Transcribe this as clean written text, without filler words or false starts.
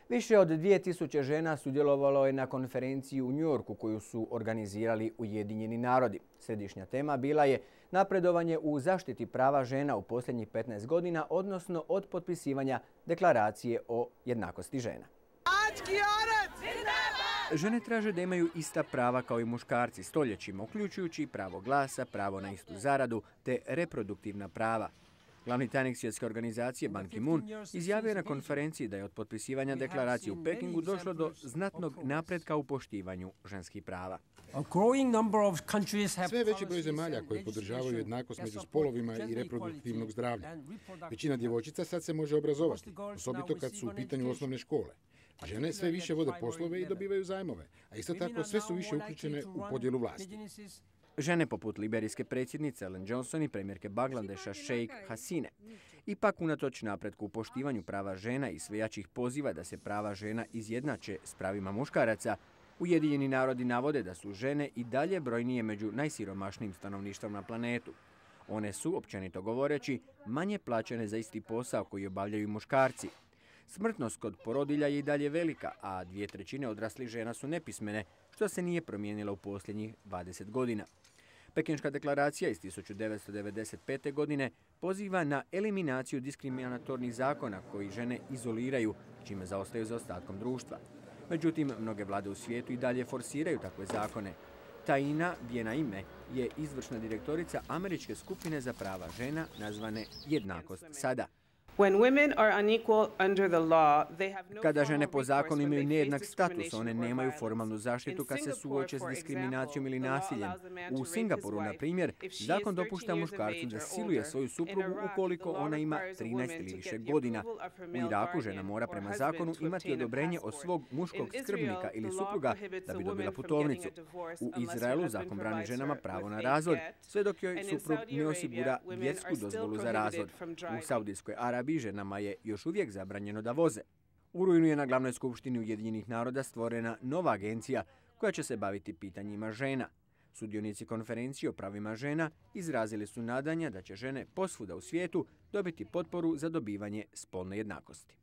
Više od 2000 žena sudjelovalo je na konferenciji u Njujorku koju su organizirali Ujedinjeni narodi. Središnja tema bila je napredovanje u zaštiti prava žena u posljednjih 15 godina, odnosno od potpisivanja deklaracije o jednakosti žena. Žene traže da imaju ista prava kao i muškarci stoljećima, uključujući pravo glasa, pravo na istu zaradu te reproduktivna prava. Glavni tajnik Svjetske organizacije Ban Ki-moon izjavio je na konferenciji da je od potpisivanja deklaracije u Pekingu došlo do znatnog napretka u poštivanju ženskih prava. Sve veći broj zemalja koji podržavaju jednakost među spolovima i reproduktivnog zdravlja. Većina djevojčica sad se može obrazovati, osobito kad su u pitanju osnovne škole. Žene sve više vode poslove i dobivaju zajmove, a isto tako sve su više uključene u podjelu vlasti. Žene poput liberijske predsjednice Ellen Johnson i premijerke Bangladeša Sheikh Hasine. Ipak, unatoč napretku u poštivanju prava žena i sve jačih poziva da se prava žena izjednače s pravima muškaraca, Ujedinjeni narodi navode da su žene i dalje brojnije među najsiromašnijim stanovništvom na planetu. One su, općenito govoreći, manje plaćene za isti posao koji obavljaju muškarci. Smrtnost kod porodilja je i dalje velika, a 2/3 odraslih žena su nepismene, što se nije promijenilo u posljednjih 20 godina. Pekinška deklaracija iz 1995. godine poziva na eliminaciju diskriminatornih zakona koji žene izoliraju, čime zaostaju za ostatkom društva. Međutim, mnoge vlade u svijetu i dalje forsiraju takve zakone. Taina Bjenaime je izvršna direktorica američke skupine za prava žena nazvane Jednakost sada. Kada žene po zakonu imaju nejednak status, one nemaju formalnu zaštitu kad se suoče s diskriminacijom ili nasiljem. U Singapuru, na primjer, zakon dopušta muškarcu da siluje svoju suprugu ukoliko ona ima 13 ili više godina. U Iraku žena mora prema zakonu imati odobrenje od svog muškog skrbnika ili supruga da bi dobila putovnicu. U Izraelu zakon brani ženama pravo na razvod, sve dok joj suprug ne osigura vjersku dozvolu za razvod. U Saudijskoj Arabiji ženama je još uvijek zabranjeno da voze. U rujnu je na glavnoj skupštini Ujedinjenih naroda stvorena nova agencija koja će se baviti pitanjima žena. Sudionici konferencije o pravima žena izrazili su nadanja da će žene posvuda u svijetu dobiti potporu za dobivanje spolne jednakosti.